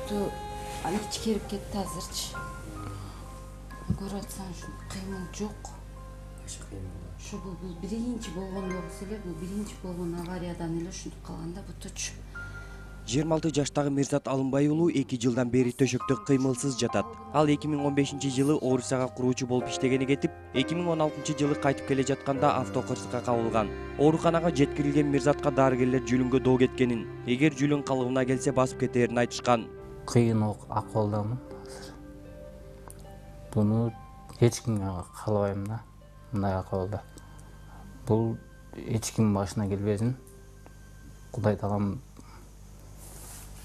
буту ичкерип кетти азырчы. Көрүп атсаң ушу кыймыл жок. Ушу бул биринчи болгон болсо эле, бул биринчи болгон авариядан эле ушинтип калганда бутучу. 26 жаштагы Мирзат Алымбай уулу 2 жылдан бери төшөктө кыймылсыз жатат. Ал 2015-жылы Орусияга куруучу болуп иштегени кетип, 2016-жылы кайтып келе жатканда автокырсыкка кабылган. Ооруканага жеткирилген Мирзатка дарыгерлер жүлүнгө доо кеткенин, эгер жүлүн калыбына келсе басып кетерин айтышкан. Кыйын акыбалдамын азыр. Буну эч кимге каалабайм да, мындай акыбалда. Бул эч ким башына келбесин. Кудай таалам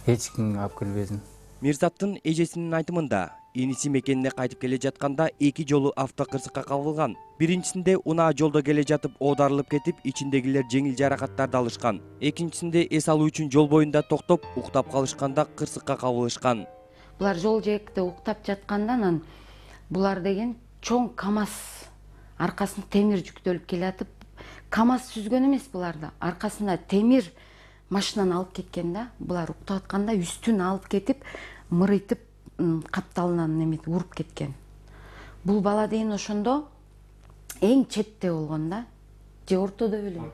эч кимге алып келбесин. Мирзаттын эжесинин айтымында, иниси мекенине кайтып келе жатканда 2 жолу автокырсыкка кабылган. Биринчисинде унаа жолдо келе жатып оодарылып кетип, ичиндегилер жеңил жаракаттарды алышкан. Экинчисинде эс алуу үчүн жол боюнда токтоп, уктап калышканда кырсыкка кабылышкан. Булар жол жээгинде уктап жатканда булар деген чоң КАМАЗ аркасында темир жүктөлүп келатып, КАМАЗ сүзгөн эмес буларды. Аркасында темир машинаны алып кеткен да. Булар уктап атканда үстүн алып кетип, мырыйтып капталынан неметип уруп кеткен. Бул бала деген ошондо эң четте болгон да. Же ортодо белем?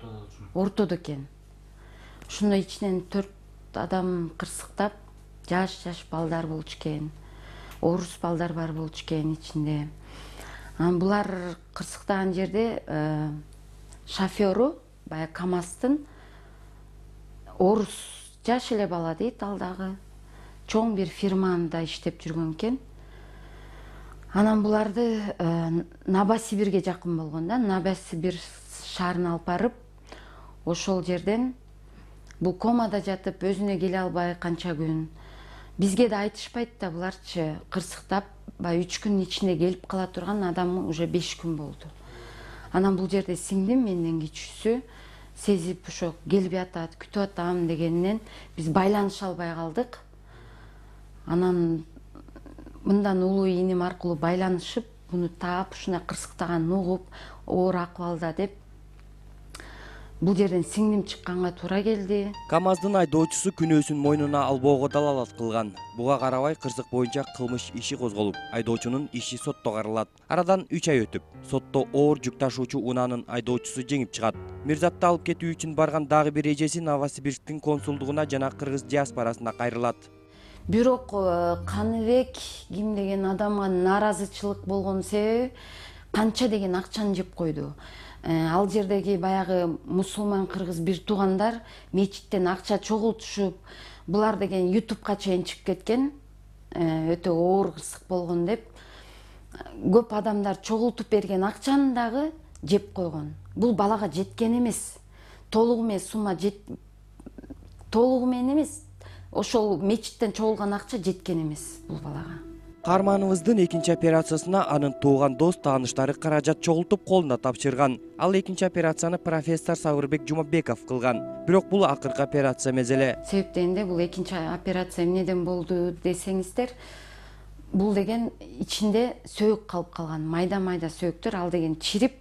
Ортодо экен. Ошондо ичинен 4 адам кырсыктап, жаш балдар болчу экен. Орус балдар бар болчу экен ичинде. Булар кырсыктаган жерде шофёру бая КАМАЗдын орус жаш эле бала дейт, ал дагы чоң бир фирмада иштеп жүргөн экен. Анан буларды Новосибирге жакын болгон да, Новосибир шаарына алып барып, ошол жерден бул комада жатып, өзүнө келе албай канча күн. Бизге да айтышпайт да, буларчы кырсыктап, бай 3 күн ичинде келип кала турган адам уже 5 күн болду. Анан бул жерде сиңдим менден кичүүсү сезип ошо келип атат, күтүп атам дегенинен биз байланыша албай калдык. Анан мындан улуу иним аркылуу байланышып, буну таап, ушундай кырсыктаганын угуп, оор акыбалда деп бул жерден сиңдим чыкканга туура келди. КАМАЗдын айдоочусу күнөөсүн мойнуна албоого далалат кылган. Буга карабай кырсык боюнча кылмыш иши козголуп, айдоочунун иши сотто каралат. Арадан 3 ай өтүп, сотто оор жүк ташуучу унаанын айдоочусу жеңип чыгат. Мирзатты алып кетүү үчүн барган дагы бир эжеси Новосибирсктин консулдугуна жана кыргыз диаспорасына кайрылат. Бирок Каныбек ким деген адамга нааразычылык болгон себеби канча деген акчаны жеп койду. Ал жердеги баягы мусулман кыргыз бир туугандар мечиттен акча чогултушуп, булар деген ютубка чейин чыгып кеткен, өтө оор кырсык болгон деп. Көп адамдар чогултуп берген акчаны дагы жеп койгон. Бул балага жеткен эмес. Толугу менен эмес. Ошол мечиттен чогулган акча жеткен эмес бул балага. Каармановуздун экинчи операциясына анын тууган дос тааныштары каражат чогултуп колуна тапшырган. Ал экинчи операцияны профессор Сабырбек Жумабеков кылган. Бирок бул акыркы операция эмес эле. Себеп дегенде бул экинчи операция эмнеден болду десеңиздер, бул деген ичинде сөөк калып калган, майда сөөктөр, ал деген чирип,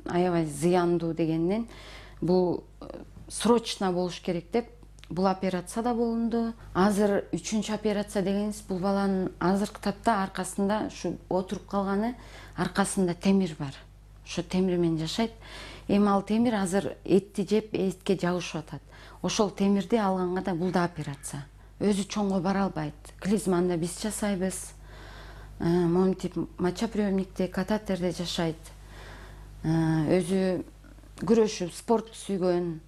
аябай зыяндуу дегеннен бул срочно болуш керек деп бул операция да болунду. Азыр 3-чү операция дегенибиз, бул баланын азыркы тапта аркасында ушу отуруп калганы, аркасында темир бар. Ошо темир менен жашайт. Эми ал темир азыр этти жеп, этке жабышып атат. Ошол темирди алганга да бул да операция. Өзү чоңго бара албайт. Клизманда биз жасайбыз. Момтип мочоприемникте, катетерде жашайт. Өзү күрөшүп, спорт сүйгөн,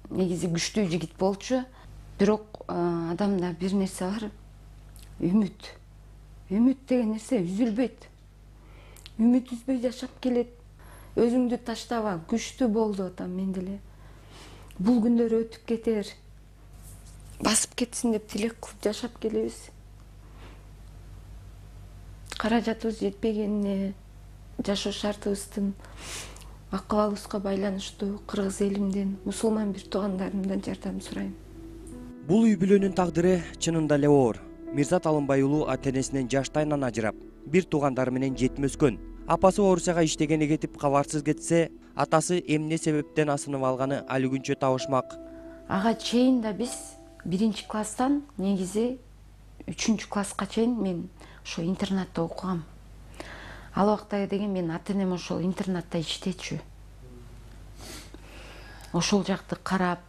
негизи күчтүү жигит болчу. Бирок адамда бир нерсе бар. Үмүт. Үмүт деген нерсе үзүлбөйт. Үмүт үзбөй жашап келет. Өзүңдү таштаба, күчтүү бол деп атам мен деле. Бул күндөр өтүп кетер. Басып кетсин деп тилек кылып жашап келебиз. Каражатыбыз жетпегенине, жашоо шартыбыздын акыбалыбызга байланыштуу кыргыз элимден, мусулман бир туугандарымдан жардам сурайм. Бул үй бүлөнүн тагдыры чынында эле оор. Мирзат Алымбай уулу ата-энесинен жаштайынан ажырап, бир туугандары менен жетим өскөн. Апасы Орусияга иштегени кетип кабарсыз кетсе, атасы эмне себептен асынып алганы али күнчө табышмак. Ага чейин да биз 1-класстан негизи 3 класска чейин мен ошо интернатта окугам. Ал убакта деген мен ата энем ошол интернатта иштечү. Ошол жакты карап,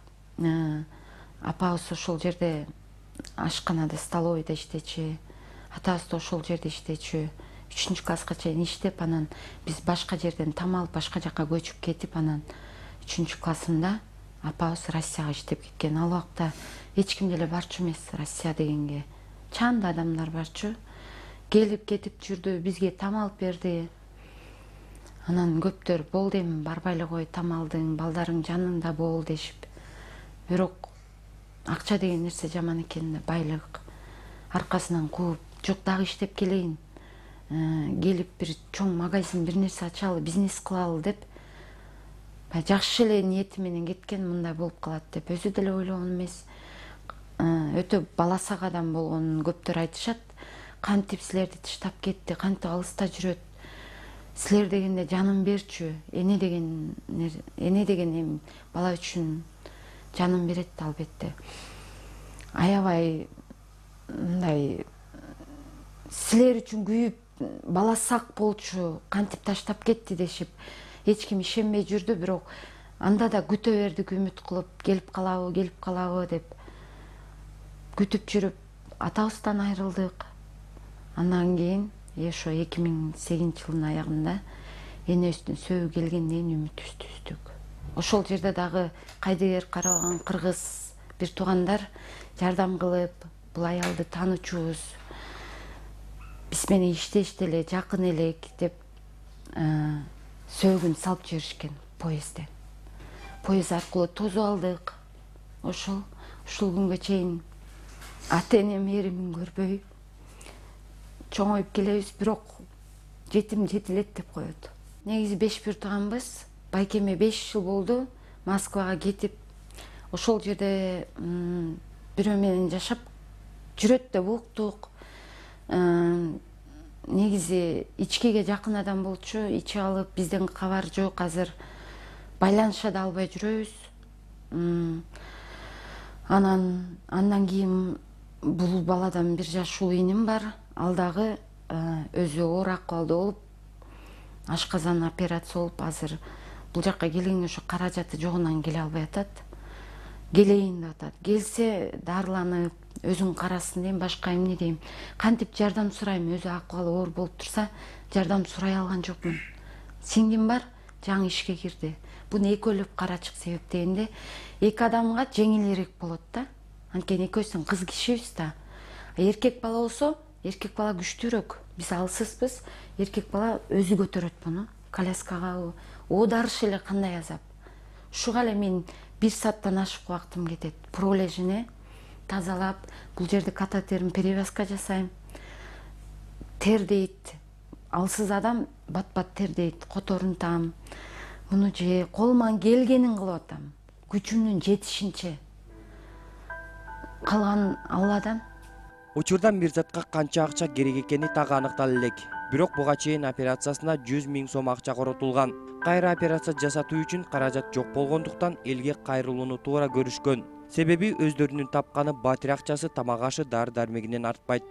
апабыз ошол жерде ашканада, столовыйда иштечү, атабыз да ошол жерде иштечү. 3 класска чейин иштеп, анан биз башка жерден там алып, башка жакка көчүп кетип, анан 3 классында апабыз Россияга иштеп кеткен. Ал убакта эч ким деле барчу эмес Россия дегенге. Чаанда адамдар барчу. Келип кетип жүрдү, бизге там алып берди. Анан көптөр болду, эми барбай эле кой, там алдың, балдарың жанында бол дешип. Бирок акча деген нерсе жаман экен да, байлык аркасынан кууп, жок дагы иштеп келейин. Келип бир чоң магазин, бир нерсе ачалы, бизнес кылалы деп жакшы эле ниети менен кеткен, мындай болуп калат деп өзү деле ойлогон эмес. Өтө баласак адам болгонун көптөр айтышат. Кантип силерди таштап кетти, кантип алыста жүрөт. Силер дегенде жанын берчү. Эне деген эми бала үчүн жанын берет албетте. Аябай мындай силер үчүн күйүп, бала сак болчу, кантип таштап кетти дешип эч ким ишенбей жүрдү, бирок анда да күтө бердик, үмүт кылып, келип калабы деп күтүп жүрүп атабыздан айрылдык. Андан кийин ошо 2008-жылдын аягында энебиздин сөөгү келгенден кийин үмүтүбүздү үздүк. Ошол жерде дагы кайдыгер карабаган кыргыз бир туугандар жардам кылып, бул аялды таанычубуз, биз менен иштешти эле, жакын элек деп сөөгүн салып жиберишкен поездден. Поезд аркылуу тосуп алдык. Ушул күнгө чейин ата энем эримин көрбөй чоңоюп келебиз, бирок жетим жетилет деп коет. Негизи 5 бир тууганбыз. Байкеме 5 жыл болду Москвага кетип, ошол жерде бирөө менен жашап жүрөт деп уктук. Негизи ичкиге жакын адам болчу, ичип алып, бизден кабар жок, азыр байланыша да албай жүрөбүз. Андан кийин бул баладан 1 жаш улуу иним бар. Ал дагы өзү оор акыбалда болуп, ашказан операция болуп, азыр бул жакка келгенге ошо каражаты жогунан келе албай атат. Келейин деп атат. Келсе дарыланып, өзүн карасын дейм, башка эмне дейм. Кантип жардам сурайм, өзү акыбалы оор болуп турса, жардам сурай алган жокмун. Сиңдим бар, жаңы ишке кирди. Буну экөөлөп карачык себептегенде 2 адамга жеңилирээк болот да. Анткени экөөбүздүн кыз кишибиз да. Эркек бала болсо, эркек бала күчтүүрөөк. Биз алсызбыз, эркек бала өзү көтөрөт буну. Коляскага оодарыш эле кандай азап. Ушуга эле мен 1 сааттан ашык убактым кетет. Пролежине тазалап, бул жерде катетерин перевязка жасайм. Тер дейт. Алсыз адам бат-бат тер дейт. Которунтам. Муну же колуман келгенин кылып атам. Күчүмдүн жетишинче. Калган Алладан. Учурдан Мирзатка канча акча керек экени так аныктала элек. Бирок буга чейин операциясына 100 000 сом акча коротулган. Кайра операция жасатуу үчүн каражат жок болгондуктан элге кайрылууну туура көрүшкөн. Себеби өздөрүнүн тапканы батир акчасы тамак ашы дары дармегинен артпайт.